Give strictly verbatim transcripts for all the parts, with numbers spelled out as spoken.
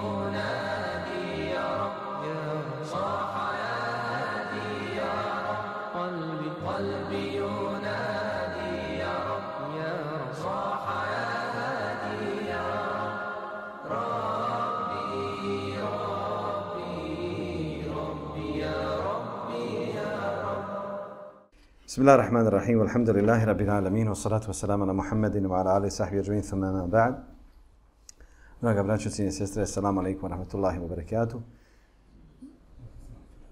ينادي يا رب صاح يا هادي يا رب قلبي قلبي ينادي يا رب يا رب صاح يا هادي يا رب ربي ربي ربي يا ربي يا رب. بسم الله الرحمن الرحيم والحمد لله رب العالمين والصلاة والسلام على محمد وعلى آله وصحبه أجمعين ثم ما بعد. Draga braćo, cijene sestre, assalamu alaikum wa rahmatullahi wa barakatuh.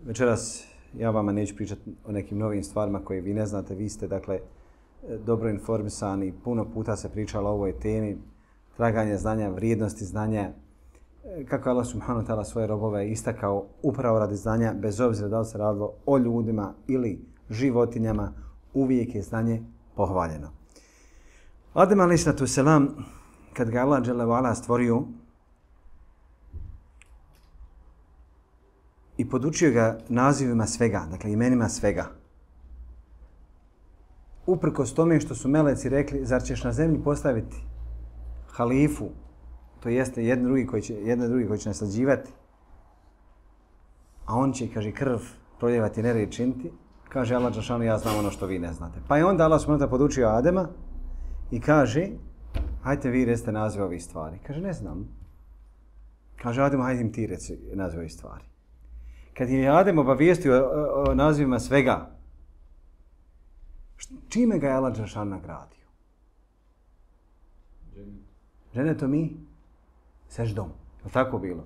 Večeras ja vama neću pričati o nekim novim stvarima koje vi ne znate. Vi ste, dakle, dobro informisani. Puno puta se pričalo o ovoj temi. Traganje znanja, vrijednosti znanja. Kako Allah subhanahu wa ta'ala svoje robove istakao upravo radi znanja, bez obzira da li se radilo o ljudima ili životinjama, uvijek je znanje pohvaljeno. Adem alejhi selam, kad ga Allah dželle ve ala stvorio i podučio ga nazivima svega, dakle imenima svega. Uprkos tome što su meleci rekli, zar ćeš na zemlji postaviti halifu, to jeste jedan drugi koji će, jedan drugi koji će naslađivati, a on će, kaže, krv proljevati, nered činiti, kaže Allah dželešanu, ja znam ono što vi ne znate. Pa je onda Allah subhanahu wa ta'ala podučio Adema i kaže, hajte vi recite nazive ovih stvari. Kaže, ne znam. Kaže, Adem, hajde im ti reci nazive ovih stvari. Kad je Adem obavijestio o, o nazivima svega, čime ga je Allah dželešanu nagradio? Dženetom mi seždom. Je li tako bilo?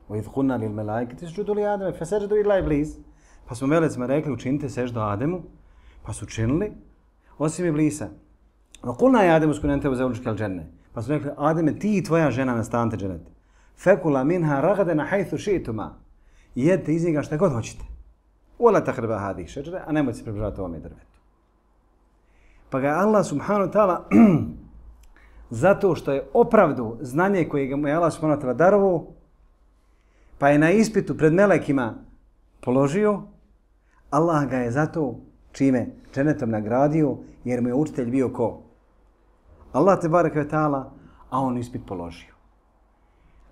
وَإِذْ قُلْنَا لِلْمَلَائِكَةِ اسْجُدُوا لِآدَمَ فَسَجَدُوا إِلَّا إِبْلِيسَ. Pa smo melecima rekli, učinite seždu Ademu, pa su učinili, osim Iblisa. وَقُلْنَا يَا آدَمُ اسْكُنْ أَنْتَ وَزَوْجُكَ الْجَنَّةَ. Pa su rekli, Ademe, ti i tvoja žena nastanite dženet. فَكُلَا مِنْهَا رَغَدًا حَيْثُ شِئْتُمَا. Jedite iz njega šta god hoćete. وَلَا تَقْرَبَا هَذِهِ الشَّجَرَةَ. A nemojte se približavati ovome drvetu. Pa ga je Allah subhanahu wa ta'ala zato što je opravdu znanje koje mu je Allah subhanahu wa ta'ala darovao, pa je na ispitu pred melekima položio, Allah ga je zato čime dženetom nagradio, jer mu je učitelj bio ko? Allah te bareke ve ta'ala, a on ispit položio.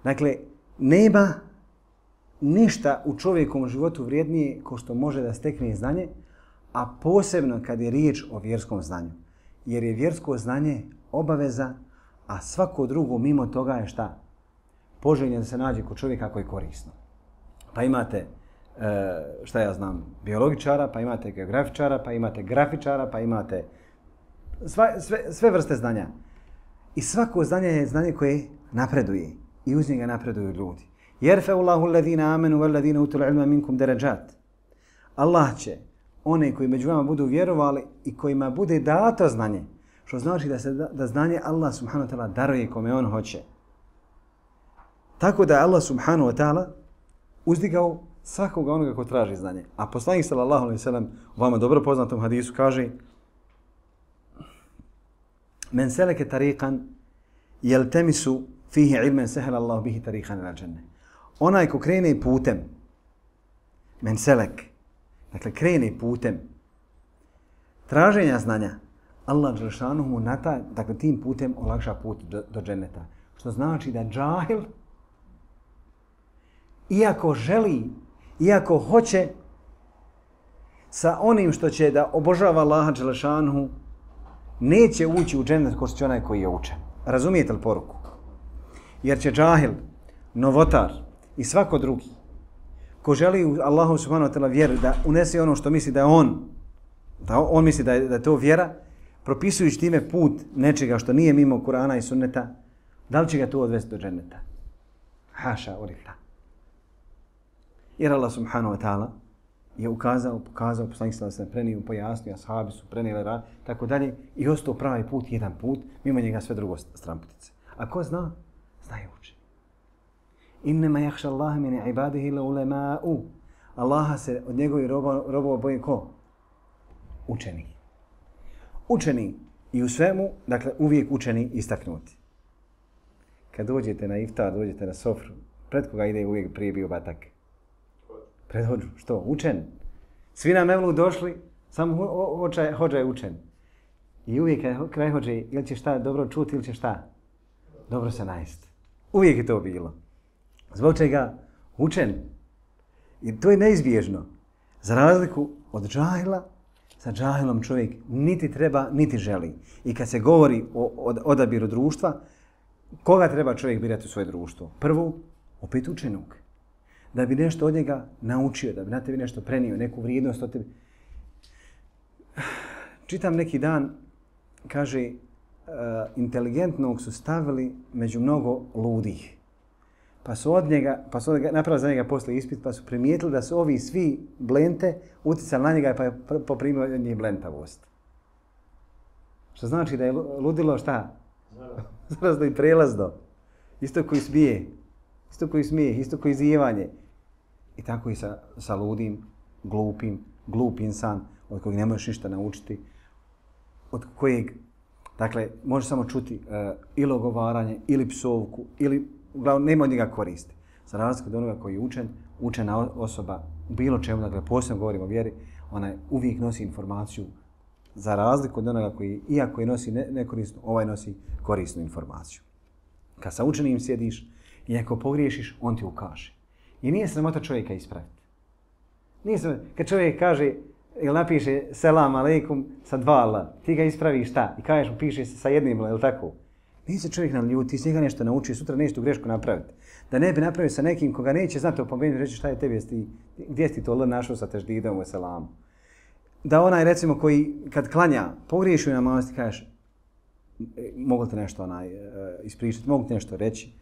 Dakle, nema ništa u čovjekovom životu vrijednije ko što može da stekne znanje, a posebno kad je riječ o vjerskom znanju. Jer je vjersko znanje obaveza, a svako drugo mimo toga je šta? Poželjno da se nađe kod čovjeka koji je korisno. Pa imate, šta ja znam, biologičara, pa imate geografičara, pa imate grafičara, pa imate sve, sve, sve vrste znanja. I svako znanje je znanje koje napreduje i uz njega napreduju ljudi. Jerfe'u Allahu alladhina amanu walladhina utul ilma minkum darajat. Allah će one koji među vama budu vjerovali i kojima bude dato znanje, što znači da se da znanje Allah subhanahu wa ta'ala daruje kome on hoće. Tako da je Allah subhanahu wa ta'ala uzdigao svakoga onoga ko traži znanje. A poslanik sallallahu alejhi ve sellem u vama dobro poznatom hadisu kaže: Men seleke tariqan yaltamisu fihi ilman sahala Allah bihi tariqan ila dženne. Onaj ko krene putem, men selek, dakle krene putem traženja znanja, Allah dželešanu mu na taj, dakle tim putem olakša put do, do dženeta. Što znači da džahil, iako želi, iako hoće, sa onim što će da obožava Allaha dželešanu, neće ući u dženet ko što će onaj koji je učen. Razumijete li poruku? Jer će džahil, novotar i svako drugi, ko želi u Allahu subhanahu wa ta'ala vjeru da unese ono što misli da je on, da on misli da je, da je to vjera, propisujući time put nečega što nije mimo Kur'ana i sunneta, da li će ga to odvesti do dženeta? Haša ulillah. Jer Allah subhanahu wa ta'ala je ukazao, pokazao, poslanik sallallahu alejhi ve sellem prenio, pojasnio, ashabi su prenijeli rad, tako dalje, i ostao pravi put, jedan put, mimo njega sve drugo stramputice. A ko zna? Zna i uči. Innema jahša Allaha min ibadihi la ulema'u. Allaha se od njegovih robova boji ko? Učeni. Učeni i u svemu, dakle uvijek učeni istaknuti. Kad dođete na iftar, dođete na sofru, pred koga ide uvijek prije bio batak? Pred hođu. Što? Učen. Svi na mevlu došli, samo hođa, hođa je učen. I uvijek kad kraj hođe, ili će šta dobro čuti ili će šta? Dobro se najesti. Uvijek je to bilo. Zbog čega učen. I to je neizbježno. Za razliku od džahila, sa džahilom čovjek niti treba, niti želi. I kad se govori o odabiru društva, koga treba čovjek birati u svoje društvo? Prvo, opet učenog. Da bi nešto od njega naučio, da bi na tebi nešto prenio, neku vrijednost od tebi. Čitam neki dan, kaže, uh, inteligentnog su stavili među mnogo ludih. Pa su od njega, pa su napravili za njega posle ispit, pa su primijetili da su ovi svi blente utjecali na njega pa je poprimio od njih blentavost. Što znači da je ludilo šta? Zarazno i prelazno. Isto koji smije, isto koji smije, isto koji zjevanje. I tako i sa, sa ludim, glupim, glup insan od kojeg ne možeš ništa naučiti, od kojeg, dakle, možeš samo čuti uh, ili ogovaranje, ili psovku, ili uglavnom nema od njega koristi. Za razliku od onoga koji je učen, učena osoba u bilo čemu, dakle posebno govorimo o vjeri, ona uvijek nosi informaciju za razliku od onoga koji, iako je nosi ne, nekorisnu, ovaj nosi korisnu informaciju. Kad sa učenim sjediš i ako pogriješiš, on ti ukaže. I nije sramota čovjeka ispraviti. Nije sramota. Kad čovjek kaže ili napiše selam aleikum sa dva la, ti ga ispraviš šta? I kažeš mu piše se sa jednim la, je li tako? Nije se čovjek naljuti, ti s njega nešto naučio, sutra neće tu grešku napraviti. Da ne bi napravio sa nekim koga neće znati opomenuti, reći šta je tebi, jesi, gdje si to L našao sa teždidom u selamu. Da onaj recimo koji kad klanja, pogriješi u namaz, ti kažeš mogu te nešto onaj, ispričati, mogu te nešto reći.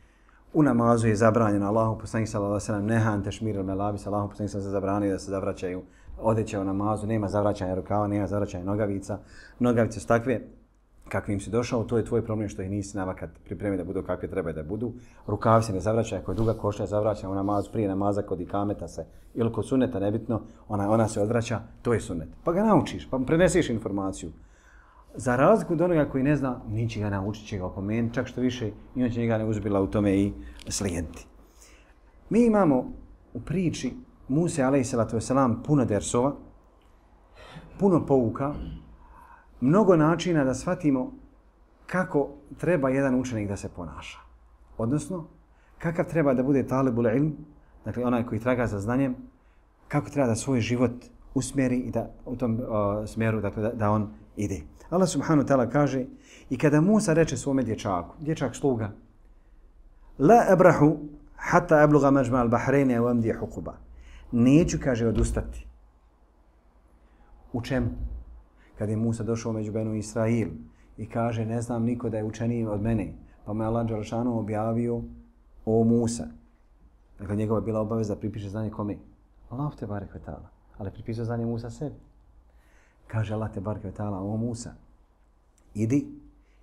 U namazu je zabranjeno, Allahu poslanik sallallahu alejhi ve sellem nehan tešmir al-malabis, Allahu poslanik sallallahu alejhi ve sellem zabranio da se zavraćaju odeće u namazu, nema zavraćanja rukava, nema zavraćanja nogavica. Nogavice su takve kakvim si došao, to je tvoj problem što ih nisi navakat pripremi da budu kakve treba da budu. Rukavi se ne zavraćaju, ako je duga košlja zavraća u namazu, prije namaza kod ikameta se, ili kod suneta, nebitno, ona, ona se odvraća, to je sunet. Pa ga naučiš, pa prenesiš informaciju. Za razliku od onoga koji ne zna, niće ga naučit, će ga opomenuti, čak što više i on će njega ne uzbila u tome i slijenti. Mi imamo u priči Muse alejselatu vesselam puno dersova, puno pouka, mnogo načina da shvatimo kako treba jedan učenik da se ponaša. Odnosno, kakav treba da bude talibul ilm, dakle onaj koji traga za znanjem, kako treba da svoj život usmjeri i da u tom uh, smjeru dakle, da, da on ide. Allah subhanahu wa ta'ala kaže i kada Musa reče svome dječaku, dječak sluga, la abrahu hatta abluga majma al-bahrayni wa amdi huquba. Neću, kaže, odustati. U čemu? Kad je Musa došao među Benu Israil i kaže ne znam niko da je učeniji od mene, pa mu je Allah dželešanu objavio o Musa. Dakle, njegova je bila obaveza da pripiše znanje kome? Allah te barek ve ta'ala. Ali pripisao znanje Musa sebi. Kaže Allah te barek ve ta'ala o Musa. Idi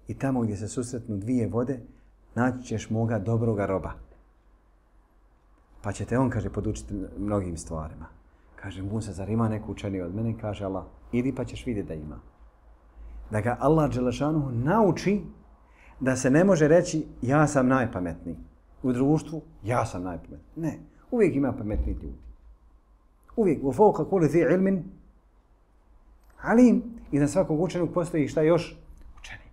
i tamo gdje se susretnu dvije vode naći ćeš moga dobroga roba. Pa će te on, kaže, podučiti mnogim stvarima. Kaže Musa, zar ima neku učeniju od mene? Kaže Allah, idi pa ćeš vidjeti da ima. Da ga Allah dželešanuhu nauči da se ne može reći ja sam najpametniji. U društvu ja sam najpametniji. Ne, uvijek ima pametniji ljudi. Uvijek, u fauqa kulli zi ilmin alim. I na svakog učenog postoji šta još? Učeni.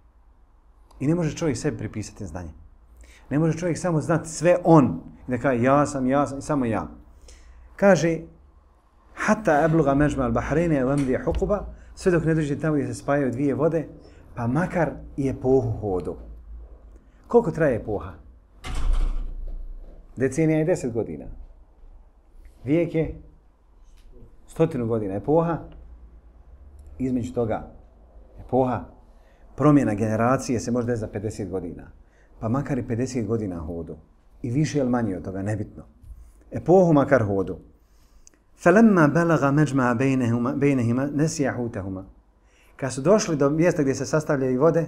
I ne može čovjek sebi pripisati znanje. Ne može čovjek samo znati sve on. I da kaže ja sam, ja sam, samo ja. Kaže hatta abluga majma al-bahrayni wa amdi huquba, sve dok ne dođe tamo gdje se spajaju dvije vode, pa makar i epohu hodu. Koliko traje epoha? Decenija je deset godina. Vijek je stotinu godina. Epoha, između toga, epoha, promjena generacije se može desiti za pedeset godina. Pa makar i pedeset godina hodu. I više ili manje od toga, nebitno. Epohu makar hodu. فَلَمَّا بَلَغَ مَجْمَعَ بَيْنَهِمَا نَسِيَ حُوتَهُمَا. Kad su došli do mjesta gdje se sastavljaju vode,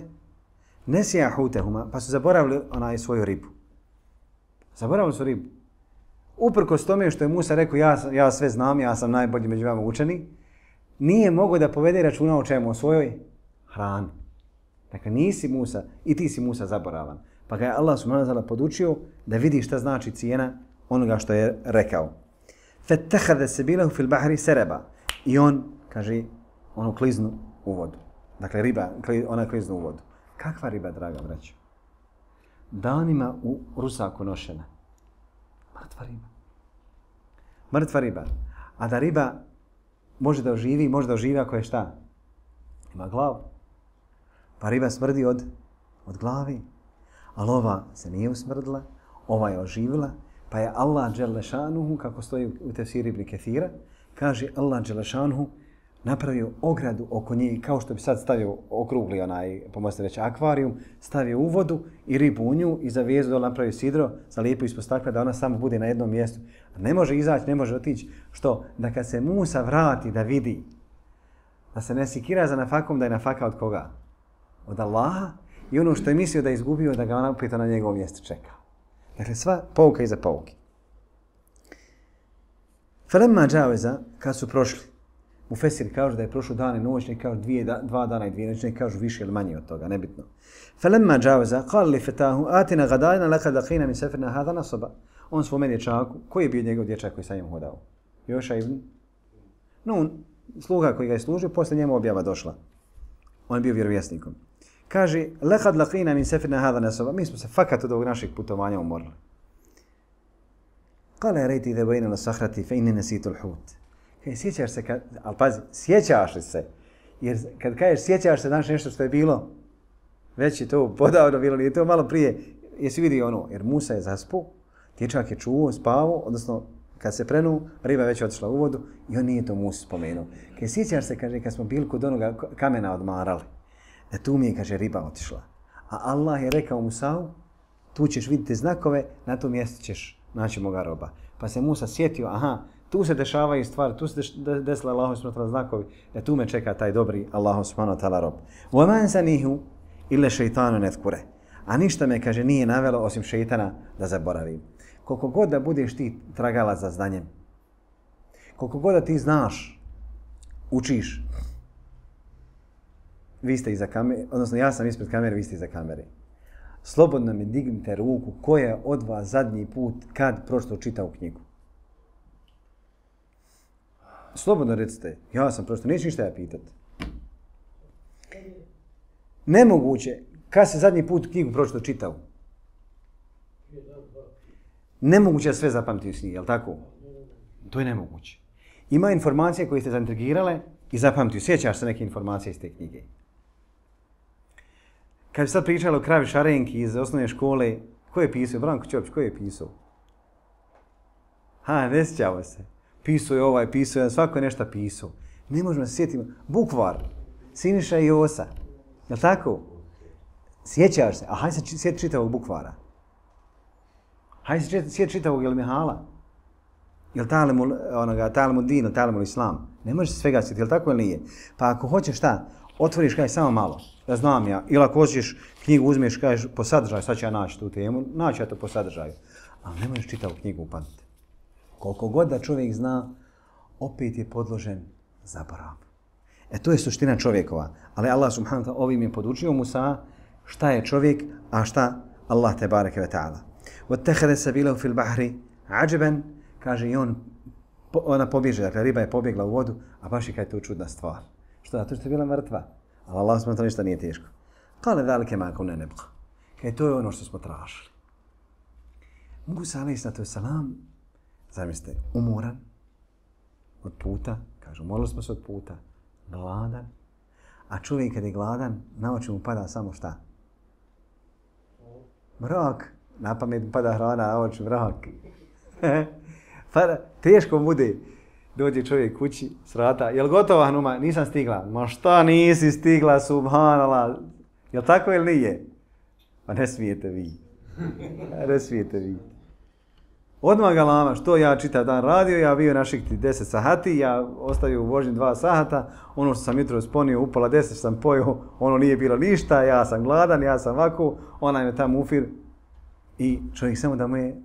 نَسِيَ حُوتَهُمَا, pa su zaboravili onaj svoju ribu. Zaboravili su ribu. Uprkos tome što je Musa rekao ja, ja sve znam, ja sam najbolji među vama učeni, nije mogao da povede računa o čemu, o svojoj hrani. Dakle, nisi Musa i ti si Musa zaboravan. Pa ga je Allah subhanahu wa ta'ala podučio da vidi šta znači cijena onoga što je rekao. فَتَّخَذَ سَبِيلَهُ فِي الْبَحْرِ سَرَبًا. I on, kaže, ono kliznu u vodu. Dakle, riba, ona kliznu u vodu. Kakva riba, draga braćo? Danima u rusaku nošena. Mrtva riba. Mrtva riba. A da riba može da oživi, može da oživi ako je šta? Ima glavu. Pa riba smrdi od, od glavi. Ali ova se nije usmrdila, ova je oživila, pa je Allah dželešanuhu, kako stoji u tefsiru Ibn Kethira, kaže Allah dželešanuhu napravio ogradu oko nje, kao što bi sad stavio okrugli onaj, pomozite reći, akvarijum, stavio u vodu i ribu u nju i za vezu dole napravio sidro, zalijepo ispod stakla da ona samo bude na jednom mjestu. Ne može izaći, ne može otići. Što? Da kad se Musa vrati da vidi, da se ne sikira za nafakom, da je nafaka od koga? Od Allaha. I ono što je mislio da je izgubio, da ga ona opet na njegovom mjestu čeka. Dakle, sva pouka iza pouke. Falemma džaveza, kad su prošli, u Fesir kažu da je prošlo dan i noć, ne kažu dvije, dva dana i dvije noći, ne kažu više ili manje od toga, nebitno. Falemma džaveza, kal li fetahu, atina gadajna, laka dakina min sefirna hada nasoba. On svome dječaku, koji je bio njegov dječak koji sa njim hodao? Joša ibn Nun, sluga koji ga je služio, posle njemu objava došla. On je bio vjerovjesnikom. Kaže, lekad lakina min sefirna hada nasoba. Mi smo se fakat od ovog našeg putovanja umorili. Kale rejti dhe bejna la sahrati fe inni nesitu l'hut. Kaže, sjećaš se, kad, ali pazi, sjećaš li se? Jer kad kažeš sjećaš se, znaš nešto što je bilo, već je to podavno bilo, nije to malo prije. Jesi vidio ono, jer Musa je zaspu, dječak je čuo, spavao, odnosno kad se prenu, riba je već otišla u vodu i on nije to Musa spomenuo. Kaže, sjećaš se, kaže, kad smo bili kod onoga kamena odmarali, da tu mi je, kaže, riba otišla. A Allah je rekao Musa'u, tu ćeš vidjeti znakove, na tom mjestu ćeš naći moga roba. Pa se Musa sjetio, aha, tu se dešavaju stvari, tu se desila Allahu subhanahu wa ta'ala znakovi, da tu me čeka taj dobri Allahu subhanahu wa ta'ala rob. وَمَنْ سَنِهُ إِلَّا شَيْطَانُ نَذْكُرَ. A ništa me, kaže, nije navelo osim šeitana da zaboravim. Koliko god da budeš ti tragalac za znanjem, koliko god da ti znaš, učiš, vi ste iza kamere, odnosno ja sam ispred kamere, vi ste iza kamere. Slobodno mi dignite ruku ko je od vas zadnji put kad prošlo čitao knjigu. Slobodno recite, ja sam prošlo, neću ništa ja pitat. Nemoguće, kad se zadnji put knjigu prošlo čitao? Nemoguće da sve zapamtiti s njih, je li tako? To je nemoguće. Ima informacije koje ste zaintrigirale i zapamtiju. Sjećaš se neke informacije iz te knjige. Kad bi sad pričali o kravi Šarenki iz osnovne škole, ko je pisao? Branko Ćopić, ko je pisao? Ha, ne sjećamo se. Pisao je ovaj, pisao je, svako je nešto pisao. Ne možemo se sjetiti. Bukvar, Siniša i Josa. Je li tako? Sjećaš se? A hajde se sjeti čitavog Bukvara. Hajde se sjeti čitavog Ilmihala. Je li talemu, onoga, talemu din, talemu islam? Ne možeš se svega sjetiti, je li tako ili nije? Pa ako hoćeš šta, otvoriš kaj samo malo, da znam ja. Ili ako hoćeš knjigu uzmeš, kažeš po sadržaju, sad ću ja naći tu temu, naći ja to po sadržaju. Ali ne možeš čitavu knjigu upamtiti. Koliko god da čovjek zna, opet je podložen zaborav. E to je suština čovjekova. Ali Allah subhanahu wa ta'ala ovim je podučio Musa šta je čovjek, a šta Allah te bareke ve ta'ala. وَاتَّخَذَ سَبِيلَهُ فِي الْبَحْرِ عَجَبًا. Kaže i on, ona pobježe, dakle riba je pobjegla u vodu, a baš je kaj to čudna stvar. Što? Zato što je bila mrtva. Ali Allah subhanahu wa ta'ala ništa nije teško. Kale velike ma kunna nabghi. Kaj to je ono što smo tražili. Musa alejhi salam, zamislite, umoran od puta, kaže, umorili smo se od puta, gladan, a čovjek kad je gladan, na oči mu pada samo šta? Mrak. Na pamet pada hrana, na oči mrak. Pa teško bude. Dođe čovjek kući, srata, jel gotova Hanuma? Nisam stigla. Ma šta nisi stigla, subhanallah. Jel tako ili nije? Pa ne smijete vi. Ne smijete vi. Odmah ga lama, što ja čitav dan radio, ja bio naših deset sahati, ja ostavio u vožnji dva sahata, ono što sam jutro sponio, upola deset sam pojio, ono nije bilo ništa, ja sam gladan, ja sam ovako, onaj me tamo ufir. I čovjek samo da mu je,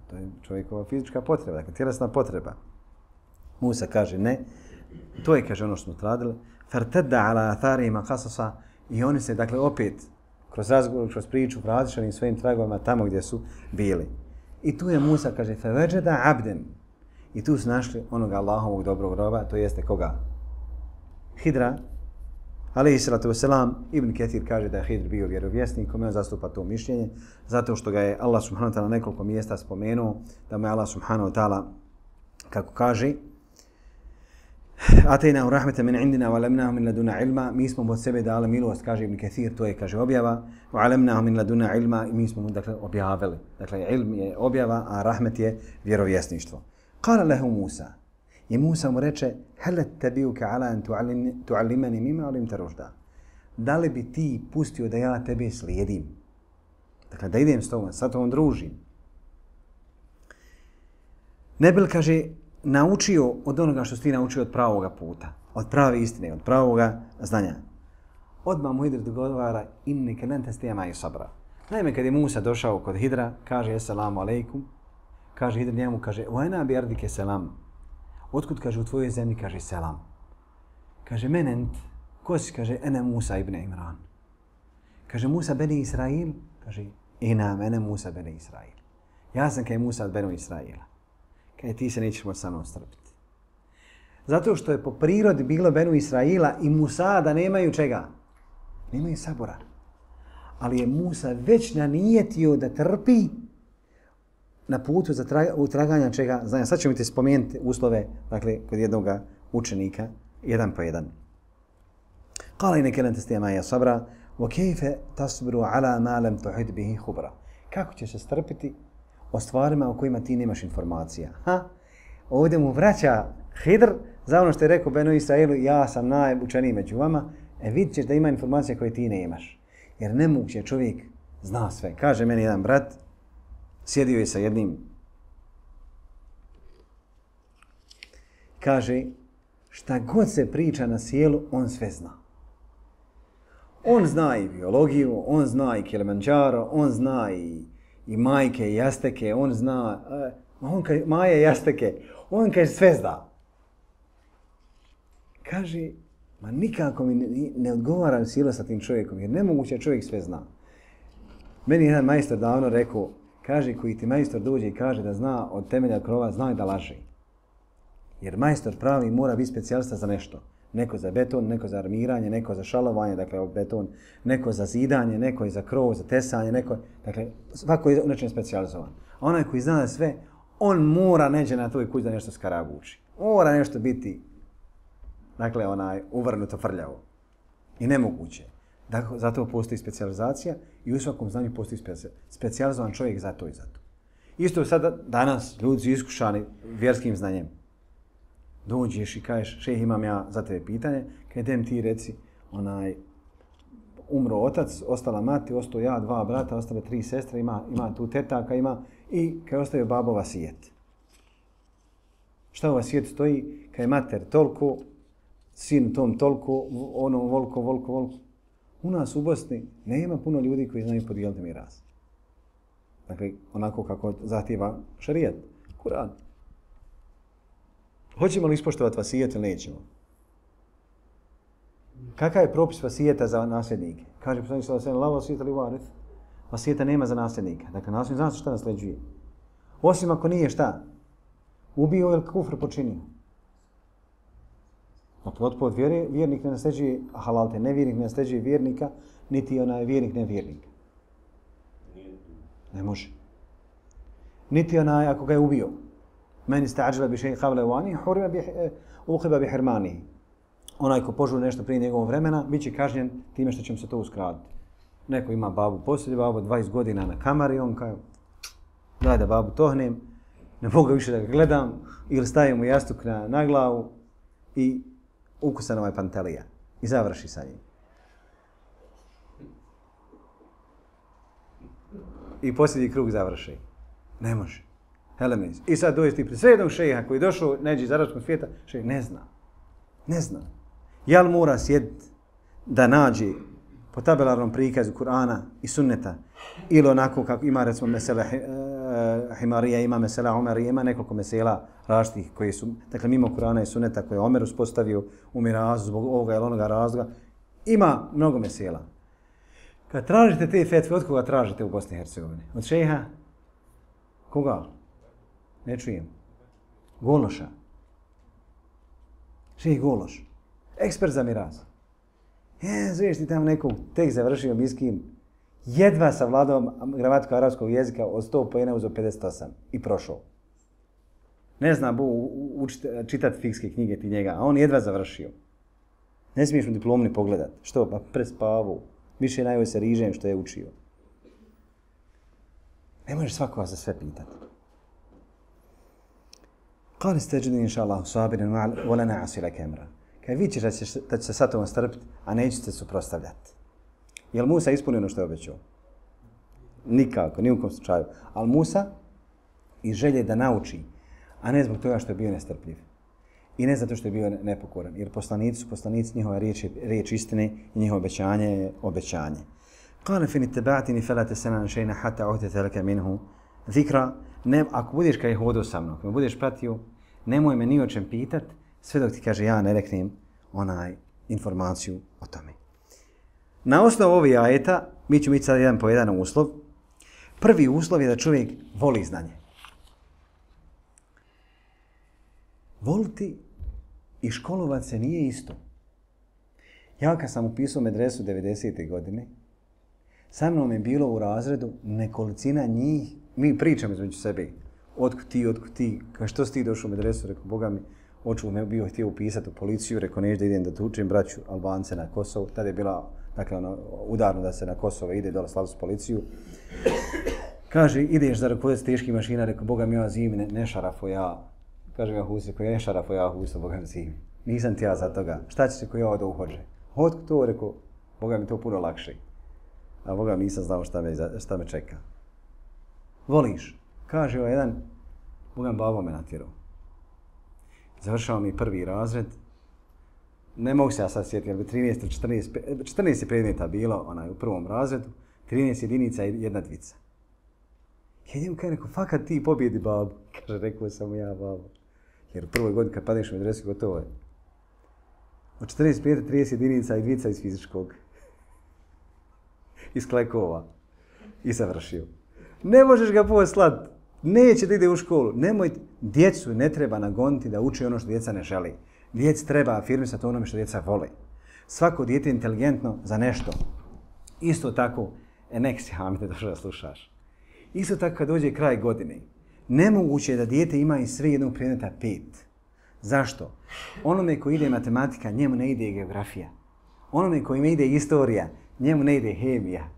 to je čovjekova fizička potreba, dakle tjelesna potreba. Musa kaže ne, to je, kaže, ono što smo radili. Fartadda ala atharihima qasasa. I oni se, dakle, opet, kroz razgovor, kroz priču, različanim svojim tragovima tamo gdje su bili. I tu je Musa, kaže, feveđeda abden. I tu su našli onoga Allahovog dobrog roba, to jeste koga? Hidra, alejhi salatu vesselam, Ibn Ketir kaže da je Hidr bio vjerovjesnik, kome on zastupa to mišljenje, zato što ga je Allah subhanahu wa ta'ala nekoliko mjesta spomenuo, da mu je Allah subhanahu wa ta'ala, kako kaže, Atejna u rahmete min indina, wa alemnahu min laduna ilma, mi smo od sebe dali milost, kaže Ibn Ketir, to je, kaže, objava, wa alemnahu min laduna ilma, i mi smo mu, dakle, objavili. Dakle, ilm je objava, a rahmet je vjerovjesništvo. Kala lehu Musa, i Musa mu reče, helet tebiuke ala an tuallimani mima alimta ružda. Da li bi ti pustio da ja tebe slijedim? Dakle, da idem s tobom, sa tobom družim. Ne bil, kaže, naučio od onoga što si ti naučio od pravoga puta, od prave istine, od pravoga znanja. Odmah mu Hidr dogovara, inneke len tastija i sabra. Naime, kad je Musa došao kod Hidra, kaže, assalamu alaikum, kaže Hidr njemu, kaže, vajna bi ardike selam. Otkud, kaže, u tvojoj zemlji, kaže, selam. Kaže, menent, ko si, kaže, ene Musa ibn Imran. Kaže, Musa beni Israil, kaže, ina mene Musa beni Israil. Ja sam kaj Musa od benu Israila. Kaj ti se nećeš moći sa mnom strpiti. Zato što je po prirodi bilo benu Israila i Musa da nemaju čega? Nemaju sabora. Ali je Musa već nanijetio da trpi na putu za traga, utraganja čega? Znači, sad ćemo ti spomenuti uslove, dakle, kod jednog učenika, jedan po jedan. Kala i neke lente stijema ja sabra, wa kejfe tasbiru ala ma lam tuhid bihi hubra. Kako ćeš se strpiti o stvarima o kojima ti nemaš informacija? Ha? Ovdje mu vraća Hidr za ono što je rekao Benu Israilu, ja sam najučeniji među vama, e vidit ćeš da ima informacija koje ti nemaš. Jer nemoguće čovjek zna sve. Kaže meni jedan brat, sjedio je sa jednim, kaže, šta god se priča na sjelu, on sve zna. On zna i biologiju, on zna i Kilimanjaro, on zna i, i majke i jasteke, on zna, uh, on kaže, maje jasteke, on kaže sve zna. Kaže, ma nikako mi ne, ne odgovaram sjelo sa tim čovjekom, jer nemoguće čovjek sve zna. Meni jedan majstor davno rekao, kaže, koji ti majstor dođe i kaže da zna od temelja krova, zna da laže. Jer majstor pravi mora biti specijalista za nešto. Neko za beton, neko za armiranje, neko za šalovanje, dakle beton, neko za zidanje, neko je za krov, za tesanje, neko, dakle, svako je nečem specijalizovan. A onaj koji zna sve, on mora neđe na toj kući da nešto skarabuči. Mora nešto biti, dakle, onaj, uvrnuto frljavo. I nemoguće. Dakle, zato postoji specijalizacija i u svakom znanju postoji specijalizovan čovjek za to i za to. Isto sada danas ljudi su iskušani vjerskim znanjem. Dođeš i kažeš, šejh, imam ja za tebe pitanje, kaj dem ti reci, onaj, umro otac, ostala mati, ostao ja, dva brata, ostale tri sestre, ima, ima tu tetaka, ima, i kaj ostaje babo vasijet. Šta u vasijet stoji? Kaj mater toliko, sin tom toliko, ono volko, volko, volko. U nas u Bosni nema puno ljudi koji znaju podijeliti miras. Dakle, onako kako zahtijeva šarijat, Kur'an. Hoćemo li ispoštovati vasijet ili nećemo? Kakav je propis vasijeta za nasljednike? Kaže poslanik sallallahu alejhi ve sellem, la vasijeta li varith. Vasijeta nema za nasljednika. Dakle, nasljednik zna se šta nasljeđuje. Osim ako nije šta? Ubio ili kufr počinio. Od vjere, vjernik ne nasljeđuje halalte, nevjernik ne nasljeđuje vjernika, niti onaj vjernik ne vjernika. Ne može. Niti onaj ako ga je ubio. Meni sta'đila bi šeji kavle vani, hurima bi uhiba bi hirmani. Onaj ko požuri nešto prije njegovog vremena, bit će kažnjen time što će mu se to uskratiti. Neko ima babu poslije, babu dvadeset godina na kamari, on kao, daj da babu tohnem, ne mogu više da ga gledam, ili stavim mu jastuk na, na glavu i ukusan ovaj pantelija. I završi sa njim. I posljednji krug završi. Ne može. Helemis. I sad dođe ti pred srednog šeha koji je došao neđe iz arapskog svijeta, šejh ne zna. Ne zna. Jel mora sjediti da nađe po tabelarnom prikazu Kur'ana i sunneta ili onako kako ima recimo mesela Himarija, ima mesela Omerija, ima nekoliko mesela različitih koji su, dakle mimo Kur'ana i sunneta koje je Omer uspostavio u mirazu zbog ovoga ili onoga razloga, ima mnogo mesela. Kad tražite te fetve, od koga tražite u Bosni i Hercegovini? Od šeha? Koga? Ne čujem. Gološa. Šejh Gološ. Ekspert za miraz. Je, zviš ti tamo nekog, tek završio miskin, jedva savladao gramatiku arapskog jezika, od sto poena uzeo pedeset osam i prošao. Ne zna bu učiti, čitati fikske knjige ti njega, a on jedva završio. Ne smiješ mu diplomu ni pogledat. Što? Pa prespavu. Više najbolje se rižem što je učio. Ne možeš svakoga za sve pitati. Kali ste džudi inša Allah, sabirin wala na'asi laka amra. Kaj vi ćeš da će, da će se sa tobom strpiti, a neće se suprotstavljati. Jel Musa ispunio ono što je obećao? Nikako, ni u kom slučaju. Ali Musa iz želje da nauči, a ne zbog toga što je bio nestrpljiv. I ne zato što je bio nepokoran. Jer poslanici su poslanici, njihova riječ je riječ istine i njihovo obećanje je obećanje. Kale fin ittaba'tini fala tas'alni shay'an hatta uhdita laka minhu zikra. Ne, ako budeš kaj hodao sa mnom, ako me budeš pratio, nemoj me ni o čem pitat, sve dok ti kaže ja ne reknem onaj informaciju o tome. Na osnovu ovih ajeta, mi ćemo ići sad jedan po jedan uslov. Prvi uslov je da čovjek voli znanje. Voliti i školovat se nije isto. Ja kad sam upisao medresu devedesete godine, sa mnom je bilo u razredu nekolicina njih, mi pričamo između sebe, otkud ti, otkud ti, kao što si ti došao u medresu, rekao, Boga mi, oču me bio htio upisati u policiju, rekao, neću da idem da tučem braću Albance na Kosovo, tada je bila, dakle, ono, udarno da se na Kosovo ide, dole slavu s policiju. Kaže, ideš za rukovodac teških mašina, rekao, Boga mi, ja zimi, ne, ne šarafo ja. Kaže mi Husi, ko je šarafo ja Husa, Boga mi zimi. Nisam ti ja za toga. Šta će se ko ja odo uhođe? Otkud to, rekao, Boga mi to puno lakše. A Boga mi nisam znao šta me, šta me čeka. Voliš? Kaže ovaj jedan, Boga mi babo me natjerao. Završao mi prvi razred. Ne mogu se ja sad sjetiti, ali trinaest ili četrnaest, četrnaest je predmeta bilo onaj, u prvom razredu, trinaest jedinica i jedna dvica. Ja njemu kaj rekao, fakat ti pobjedi babu. Kaže, rekao sam ja babu. Jer u prvoj godini kad padneš u medresu, gotovo je. Od četrnaest predmeta, trideset jedinica i dvica iz fizičkog. Iz klekova. I završio. Ne možeš ga poslat. Neće da ide u školu. Nemoj, djecu ne treba nagoniti da uči ono što djeca ne želi. Djeci treba afirmisati onome što djeca vole. Svako dijete je inteligentno za nešto. Isto tako, e, nek si Hamide došao da slušaš. Isto tako kad dođe kraj godine, nemoguće je da dijete ima iz sve jednog predmeta pet. Zašto? Onome koji ide matematika, njemu ne ide geografija. Onome koji ide istorija, njemu ne ide hemija.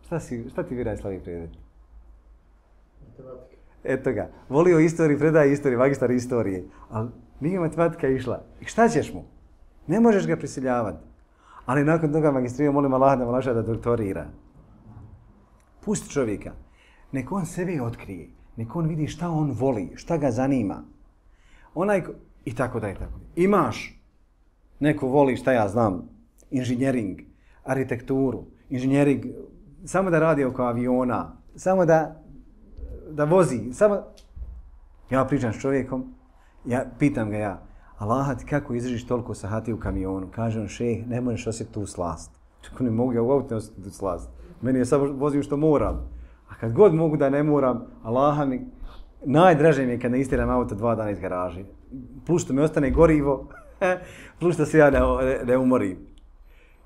Šta, si, šta ti vjeraj slavi predmet? Matematika. Eto ga. Volio istoriju, predaje istoriju, magistar istorije. Ali nije matematika išla. I šta ćeš mu? Ne možeš ga prisiljavati. Ali nakon toga magistrirao, molim Allah da malaša da doktorira. Pusti čovjeka. Nek on sebe otkrije. Nek on vidi šta on voli, šta ga zanima. Onaj ko... I tako da i tako. Imaš. Neko voli, šta ja znam, inženjering, arhitekturu, inženjering, samo da radi oko aviona, samo da, da vozi, samo... Ja pričam s čovjekom, ja pitam ga ja, Allah ti kako izdržiš toliko sahati u kamionu? Kaže on, šeh, ne možeš osjetiti tu slast. Čako ne mogu ja u auto ne osjetiti tu slast. Meni je samo vozim što moram. A kad god mogu da ne moram, Allah mi, najdraže mi je kad ne istiram auto dva dana iz garaže. Plus što mi ostane gorivo, plus što se ja ne, ne, ne umorim.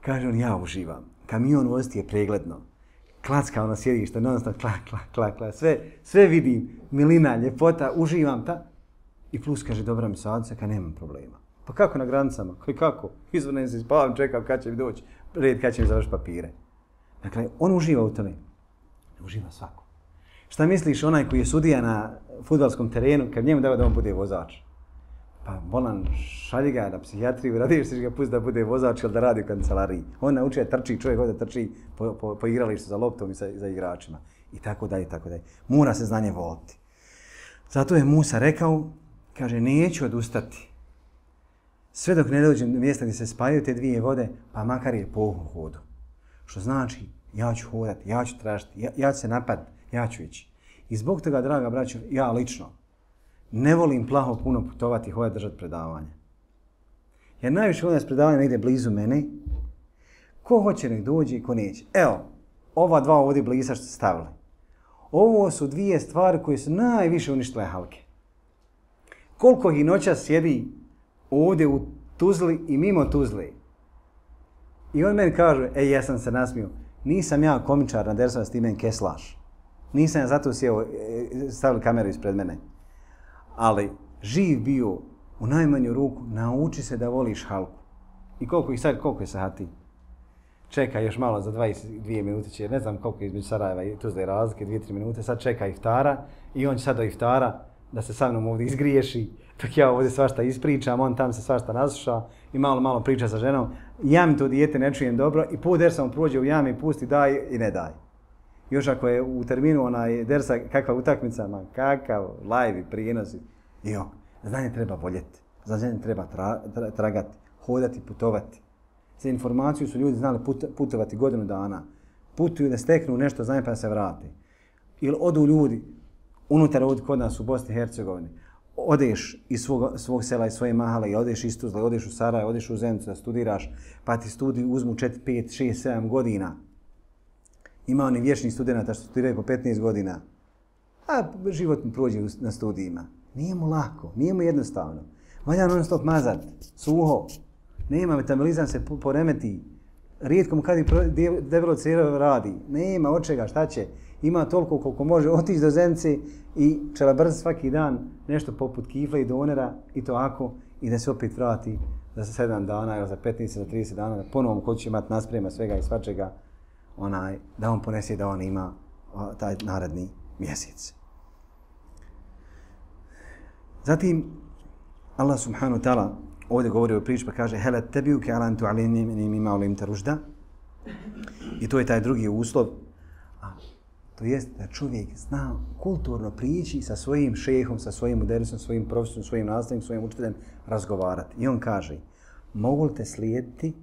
Kaže on, ja uživam. Kamion voziti je pregledno. Klacka ono sjedište, non stop, klak, klak, klak, klak. Sve, sve vidim, milina, ljepota, uživam ta. I plus kaže, dobra mi sadica, kad nemam problema. Pa kako na granicama? Kaj kako? Izvrnem se, spavam, čekam kad će mi doći, red kad će mi završiti papire. Dakle, on uživa u tome. Uživa svako. Šta misliš onaj koji je sudija na fudbalskom terenu, kad njemu dava da on bude vozač? Pa bolan, šalji ga na psihijatriju, radiš se ga pusti da bude vozač ili da radi u kancelariji. On nauči da trči, čovjek ovdje trči po, po, po igralištu za loptom i sa, za igračima. I tako dalje, i tako dalje. Mora se znanje voliti. Zato je Musa rekao, kaže, neću odustati. Sve dok ne dođem do mjesta gdje se spajaju te dvije vode, pa makar je po hodu. Što znači, ja ću hodati, ja ću tražiti, ja, ja ću se napad, ja ću ići. I zbog toga, draga braćo, ja lično ne volim plaho puno putovati i hodati držati predavanja. Jer najviše volim da se predavanja negdje blizu mene. Ko hoće nek dođe i ko neće. Evo, ova dva ovdje blisa što ste stavili. Ovo su dvije stvari koje su najviše uništile halke. Koliko ih noća sjedi ovdje u Tuzli i mimo Tuzli. I on meni kaže, ej, ja sam se nasmio, nisam ja komičar na dersama s ti meni keslaš. Nisam ja zato sjeo, stavili kameru ispred mene. Ali živ bio u najmanju ruku, nauči se da voliš halku. I koliko ih sad, koliko je sati? Čeka još malo za dvadeset dvije minute će, ne znam koliko je između Sarajeva i Tuzle razlike, dvije tri minute, sad čeka iftara i on će sad do iftara da se sa mnom ovdje izgriješi, dok ja ovdje svašta ispričam, on tam se svašta nasluša i malo malo priča sa ženom. Ja mi to dijete ne čujem dobro i put dersa mu prođe u jami i pusti daj i ne daj. Još ako je u terminu onaj dersa kakva utakmica, man, kakav, live, prijenosi. Jo, znanje treba voljeti, znanje treba tra, tra, tragati, hodati, putovati. Za informaciju su ljudi znali put, putovati godinu dana. Putuju da steknu nešto znanje pa da se vrati. Ili odu ljudi unutar ovdje kod nas u Bosni i Hercegovini. Odeš iz svog, svog sela i svoje mahale i odeš iz Tuzle, odeš u Sarajevo, odeš u Zenicu da studiraš, pa ti studij uzmu četiri, pet, šest, sedam godina. Ima oni vječnih studenta što studiraju po petnaest godina. A život mu prođe na studijima. Nije mu lako, nije mu jednostavno. Valja non stop mazat, suho. Nema, metabolizam se poremeti. Rijetko mu kad i debelo crjevo radi. Nema od čega, šta će. Ima toliko koliko može otići do Zenice i čelabrz svaki dan nešto poput kifla i donera i to ako i da se opet vrati za sedam dana ili za petnaest ili za trideset dana da ponovom ko će imati nasprema svega i svačega onaj, da on ponese da on ima o, taj naredni mjesec. Zatim Allah subhanahu wa ta'ala ovdje govori o priči pa kaže hele tebiuke ala antu alimni mima ulimta ružda. I to je taj drugi uslov. A, to jest da čovjek zna kulturno prići sa svojim šehom, sa svojim mudericom, svojim profesorom, svojim nastavnim, svojim učiteljem razgovarati. I on kaže, mogu li te slijediti,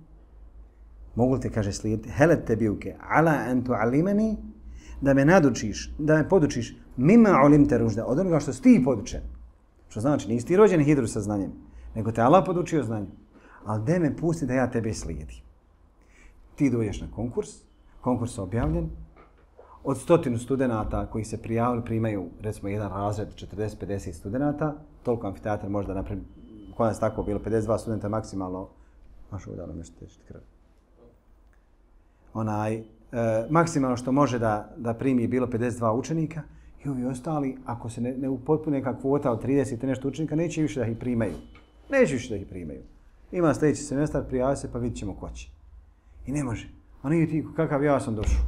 mogu li te, kaže, slijediti, hele tebiuke ala antu alimeni, da me nadučiš, da me podučiš mima ulimta ružda, od onoga što si ti podučen. Što znači, nisi ti rođen hidru sa znanjem, nego te Allah podučio znanjem. Ali de me pusti da ja tebe slijedim. Ti dođeš na konkurs, konkurs je objavljen, od stotinu studenata koji se prijavili primaju, recimo, jedan razred, četrdeset pedeset studenata, toliko amfiteatar možda napraviti, kod nas tako bilo, pedeset dva studenta maksimalno, maš ovo dalo nešto tečiti krv. Onaj, e, maksimalno što može da, da primi je bilo pedeset dva učenika i ovi ostali, ako se ne, ne upotpune neka kvota od trideset i nešto učenika, neće više da ih primaju. Neće više da ih primaju. Ima sljedeći semestar, prijavi se pa vidit ćemo ko će. I ne može. A nije ti kakav ja sam došao.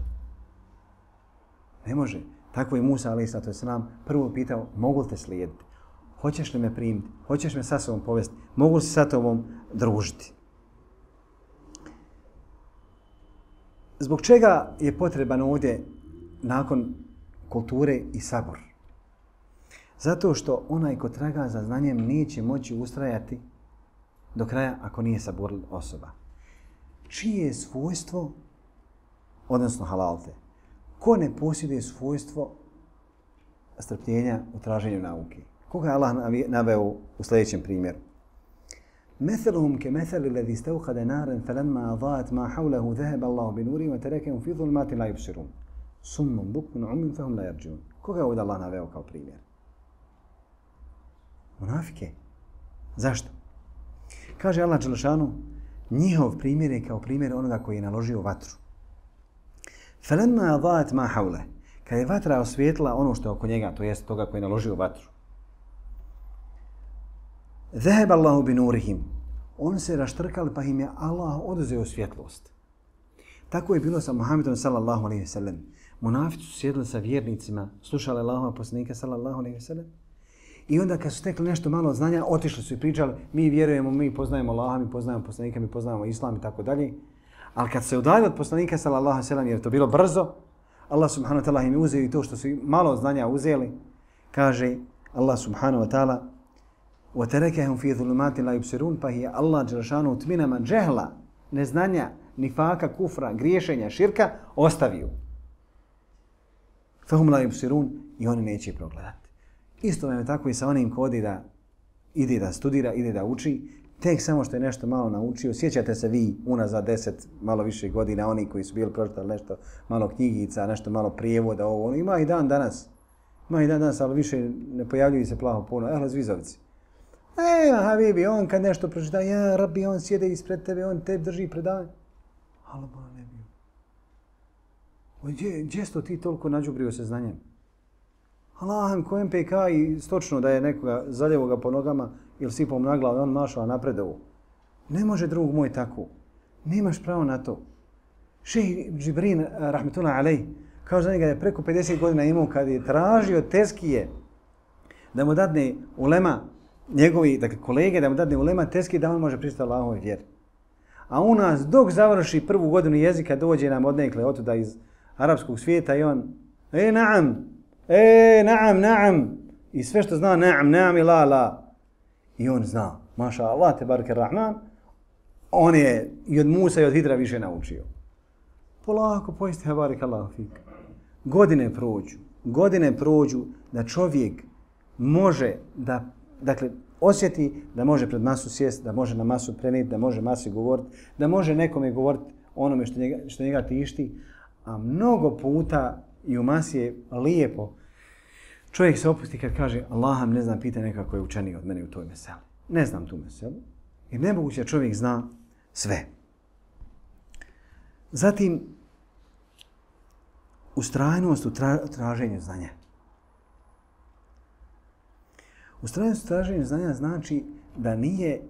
Ne može. Tako je Musa alejhi selatu vesselam prvo pitao, mogu li te slijediti? Hoćeš li me primiti? Hoćeš me sa sobom povesti? Mogu li se sa tobom družiti? Zbog čega je potreban ovdje nakon kulture i sabor? Zato što onaj ko traga za znanjem neće moći ustrajati do kraja ako nije saburl osoba. Čije je svojstvo, odnosno halalte, ko ne posjeduje svojstvo strpljenja u traženju nauke? Koga je Allah naveo u sljedećem primjeru? Metheluhum ke metheli ledhi stevhade naren felemma adaat ma hawlahu dheheba Allahu binurihim wa tarakahum fi dhulmatin la yubsirun. Summum bukmun ummin fahum la yarjiun. Koga je ovdje Allah naveo kao primjer? Munafike. Zašto? Kaže Allah dželešanu, njihov primjer je kao primjer onoga koji je naložio vatru. Felemma adaat ma hawle. Kad je vatra osvijetla ono što je oko njega, to jest toga koji je naložio vatru. Dheheba Allahu binurihim. On se raštrkali pa im je Allah oduzeo svjetlost. Tako je bilo sa Muhammedom sallallahu alejhi ve sellem. Munafici su sjedili sa vjernicima, slušali Allahova poslanika sallallahu alejhi ve sellem. I onda kad su stekli nešto malo znanja, otišli su i pričali, mi vjerujemo, mi poznajemo Allaha, mi poznajemo poslanika, mi poznajemo Islam i tako dalje. Ali kad se udaljili od poslanika sallallahu alejhi ve sellem, jer to bilo brzo, Allah subhanahu wa ta'ala im je uzeo i to što su malo znanja uzeli, kaže Allah subhanahu wa ta'ala, وَتَرَكَهُمْ فِي ظُلُمَاتٍ لَا يُبْصِرُونَ, pa je Allah dželešanu u tminama džehla, neznanja, nifaka, kufra, griješenja, širka ostavio. فَهُمْ لَا يُبْصِرُونَ, i oni neće progledati. Isto je tako i sa onim ko odi da ide da studira, ide da uči, tek samo što je nešto malo naučio. Sjećate se vi unazad deset, malo više godina, oni koji su bili pročitali nešto malo knjigica, nešto malo prijevoda, ovo, ono, ima i dan danas. Ima i dan danas, ali više ne pojavljuju se plaho puno. Ehle, Zvizovici. E, Habibi, on kad nešto pročita, ja, Rabbi, on sjede ispred tebe, on te drži predavanje. Allah bola ne bio. Gdje, gdje sto ti toliko nađubrio se znanjem? Allahem ko M P K i stočno da je nekoga zaljevo ga po nogama ili sipom na glavu i on mašao napredovo. Ne može drug moj tako. Nemaš pravo na to. Šejh Džibrin, rahmetullah alejh, kao za njega je preko pedeset godina imao kad je tražio teskije da mu dadne ulema, njegovi dakle, kolege, da mu dadne ulema teskije da on može pristati Allahovoj vjeri. A u nas dok završi prvu godinu jezika dođe nam odnekle otuda iz arapskog svijeta i on e naam, e naam, naam i sve što zna naam, naam i la, la. I on zna, maša Allah, tebareke rahman, on je i od Musa i od Hidra više naučio. Polako pojesti, tebareke Allah fik. Godine prođu, godine prođu da čovjek može da, dakle, osjeti da može pred masu sjest, da može na masu prenijeti, da može masi govoriti, da može nekome govoriti onome što njega, što njega tišti, a mnogo puta i u masi je lijepo. Čovjek se opusti kad kaže Allaham ne znam, pita nekako je učeniji od mene u toj meseli. Ne znam tu meselu. Jer nemoguće da čovjek zna sve. Zatim, ustrajnost u tra traženju znanja. Ustrajnost u traženju znanja znači da nije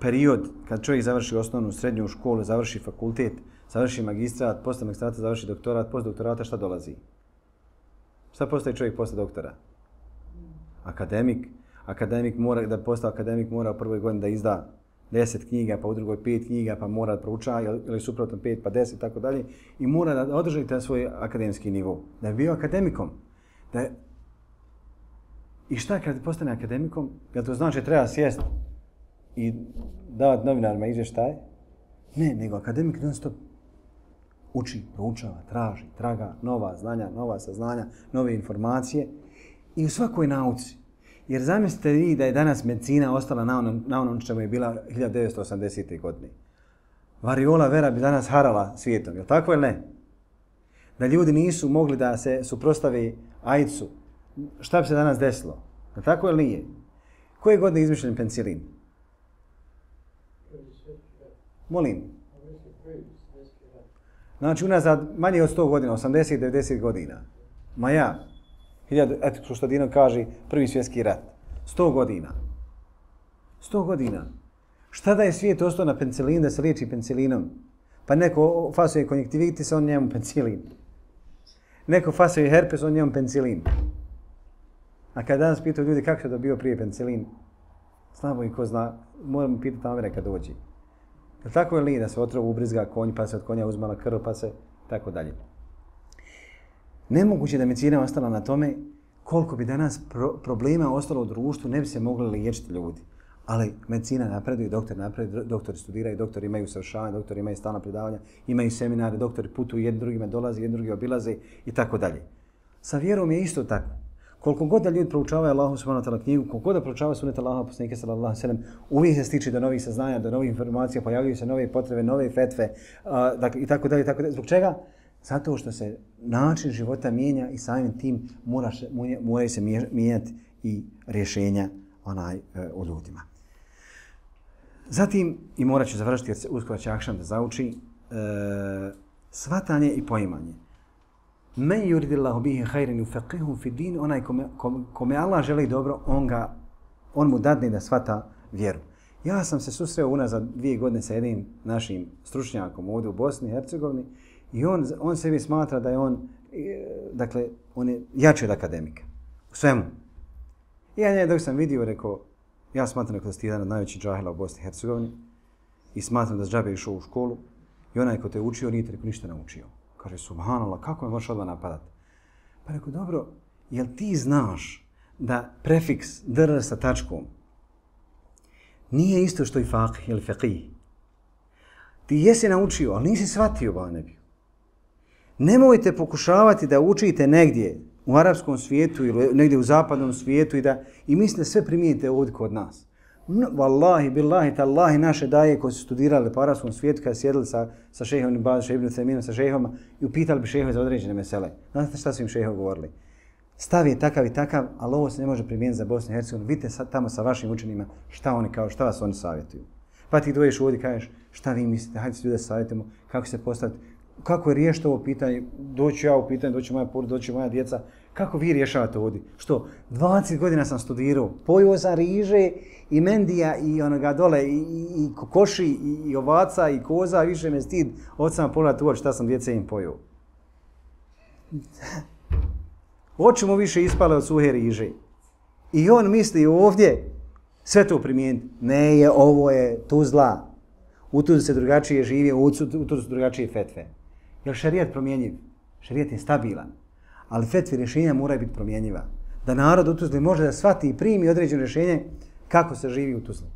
period kad čovjek završi osnovnu srednju školu, završi fakultet, završi magistrat, posle magistrata završi doktorat, posle doktorata šta dolazi? Šta postaje čovjek posle doktora? Akademik. Akademik mora, da postao akademik mora u prvoj godini da izda deset knjiga, pa u drugoj pet knjiga, pa mora da proučava, ili suprotno pet, pa deset, tako dalje. I mora da održi taj svoj akademski nivo. Da je bio akademikom. Da je... I šta kad postane akademikom? Jel to znači treba sjest i davati novinarima izvještaj? Ne, nego akademik non stop uči, proučava, traži, traga nova znanja, nova saznanja, nove informacije i u svakoj nauci. Jer zamislite vi da je danas medicina ostala na onom, na onom čemu je bila hiljadu devetsto osamdesete. godine. Variola vera bi danas harala svijetom, je li tako ili ne? Da ljudi nisu mogli da se suprostave AIDS-u, šta bi se danas desilo? Je li tako ili nije? Koje godine je izmišljen penicilin? Molim. Znači unazad manje od sto godina, osamdeset do devedeset godina. Ma ja, hiljadu, eto što Dino kaže, prvi svjetski rat. sto godina. sto godina. Šta da je svijet ostao na penicilin, da se liječi penicilinom? Pa neko fasuje konjektivitis, on njemu penicilin. Neko fasuje herpes, on njemu penicilin. A kad danas pitaju ljudi kako se dobio prije penicilin, slabo i ko zna, moram pitati Amere kad dođe. Je li tako ili da se otrov ubrizga konj, pa se od konja uzmala krv, pa se tako dalje. Nemoguće da medicina ostala na tome koliko bi danas pro problema ostalo u društvu, ne bi se mogli liječiti ljudi. Ali medicina napreduje, doktor napreduje, doktori studiraju, doktori imaju usavršavanje, doktori imaju stalna predavanja, imaju seminare, doktori putuju, jedni drugima dolaze, jedni drugi obilaze i tako dalje. Sa vjerom je isto tako. Koliko god da ljudi proučavaju Allahu subhanahu wa ta'ala knjigu, koliko god da proučavaju sunnet Allaha poslanika sallallahu alejhi ve sellem, uvijek se stiče do novih saznanja, do novih informacija, pojavljuju se nove potrebe, nove fetve, uh, dakle, i tako dalje, tako dalje. Zbog čega? Zato što se način života mijenja i samim tim mora, moraju se mijenjati i rješenja onaj, uh, u ljudima. Zatim, i morat ću završiti jer se uskoro će akšam da zauči, uh, shvatanje i poimanje. Men yuridillahu bihi khairan yufaqihu fi din, onaj kome, kome Allah želi dobro, on ga on mu dadne da shvata vjeru. Ja sam se susreo unazad dvije godine sa jednim našim stručnjakom ovdje u Bosni i Hercegovini i on on sebi smatra da je on dakle on je jači od akademika u svemu. I ja njega dok sam vidio rekao ja smatram da si jedan od najvećih džahila u Bosni i Hercegovini i smatram da džabe išao u školu i onaj ko te učio nije te ništa naučio. Kaže, subhanallah, kako me možeš odmah napadati? Pa rekao, dobro, jel ti znaš da prefiks dr sa tačkom nije isto što i faqih ili faqih? Ti jesi naučio, ali nisi shvatio ba nebiju. Nemojte pokušavati da učite negdje u arapskom svijetu ili negdje u zapadnom svijetu i da i mislite sve primijenite ovdje kod nas. No, wallahi, billahi, tallahi, naše daje koji su studirali po arapskom svijetu kada sjedili sa, sa šejhom Ibn Baz, šejhom Ibn Uthayminom, sa šejhoma i upitali bi šejhove za određene mesele. Znate šta su im šejhovi govorili? Stav je takav i takav, ali ovo se ne može primijeniti za Bosnu i Hercegovinu. Vidite sad tamo sa vašim učenima šta oni kao, šta vas oni savjetuju. Pa ti dođeš ovdje i kažeš šta vi mislite, hajde se ljude savjetimo, kako se postaviti, kako je riješiti ovo pitanje, doću ja u pitanje, doći moja porodica, doći moja djeca, kako vi rješavate ovdje? Što? dvadeset godina sam studirao, pojio sam riže i mendija i onoga dole, i, i, i kokoši, i, i ovaca, i koza, više me stid, od sam pogledat u oči šta sam djece im pojio. Oči mu više ispale od suhe riže. I on misli ovdje sve to primijeniti. Ne je, ovo je Tuzla. U Tuzli se drugačije živi, u Tuzli su drugačije fetve. Jer šerijat promjenjiv? Šerijat je stabilan. Ali fetve rješenja moraju biti promjenjiva. Da narod u Tuzli može da shvati i primi određeno rješenje kako se živi u Tuzli.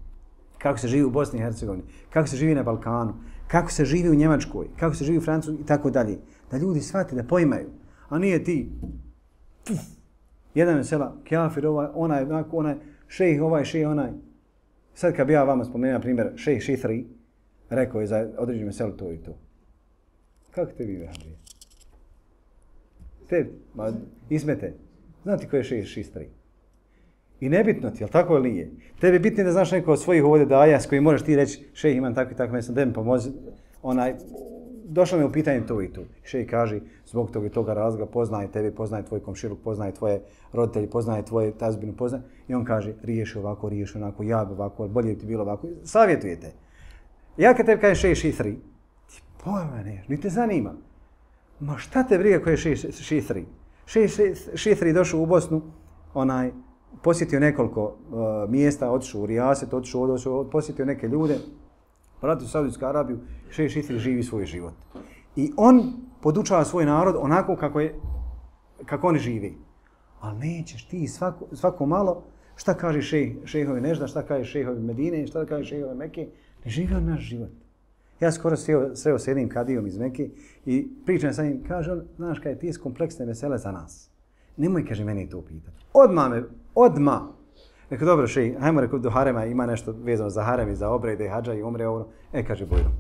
Kako se živi u Bosni i Hercegovini. Kako se živi na Balkanu. Kako se živi u Njemačkoj. Kako se živi u Francusku i tako dalje. Da ljudi shvate, da pojmaju. A nije ti. Puf, jedan je sela, kjafir, ovaj, onaj, onaj, šejh, ovaj, šejh, onaj. Sad kad bi ja vama spomenuo, na primjer, šejh Šithri, rekao je za određenu selu to i to. Kako te vi vehabije? Te, ma, izmete. Znate ko je šejh Šithri? I nebitno ti, jel tako ili nije? Tebi bitno da znaš neko od svojih ovdje daja s kojim možeš ti reći, šejh imam tako i tako, mislim, da mi pomozi, onaj, došlo mi u pitanje to i to. Šejh kaže, zbog toga i toga razloga, poznaje tebe, poznaje tvoj komšiluk, poznaje tvoje roditelji, poznaje tvoje tazbinu, poznaje. I on kaže, riješi ovako, riješi onako, ja bi ovako, bolje bi ti bilo ovako. Savjetujete. Ja kad tebi kažem šejh Šithri, ti pojma neš, ni te zanima. Ma šta te briga ko je šejh Šithri? Šejh Šithri došao u Bosnu, onaj, posjetio nekoliko uh, mjesta, otišao u Rijaset, otišao, otišao, posjetio neke ljude, vratio u Saudijsku Arabiju, šejh Šithri živi svoj život. I on podučava svoj narod onako kako, je, kako oni živi. Ali nećeš ti svako, svako malo, šta kaže šejh, šejhovi Nežda, šta kaže šejhovi Medine, šta kaže šejhovi Mekke, ne živi on naš život. Ja skoro sreo, sreo s jednim kadijom iz Mekke i pričam sa njim, kaže on, znaš kaj, ti je kompleksne vesele za nas. Nemoj, kaže, meni to pitati. Odmah me, odmah. Rekao, dobro, šejh, hajmo, rekao, do harema ima nešto vezano za harem i za obrede, hadža i umre ovo. E, kaže, bojno.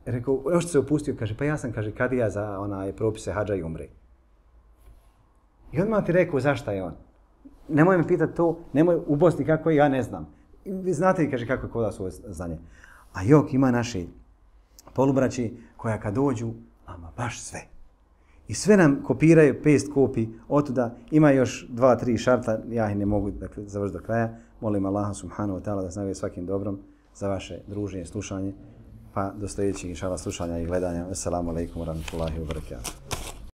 Rekao, još se opustio, kaže, pa ja sam, kaže, kadija za onaj propise hadža i umre. I odmah ti rekao, zašta je on? Nemoj me pitati to, nemoj u Bosni kako je, ja ne znam. I vi znate, kaže, kako je kod vas ovo znanje. A jok, ima naši polubraći koja kad dođu, ama baš sve. I sve nam kopiraju, pest kopi, otuda ima još dva, tri šarta, ja ih ne mogu dakle, završiti do kraja. Molim Allaha subhanahu wa ta'ala da se nagradi svakim dobrom za vaše druženje, slušanje, pa do sljedećeg inšala slušanja i gledanja. Assalamu alaikum wa rahmatullahi wa barakatuh.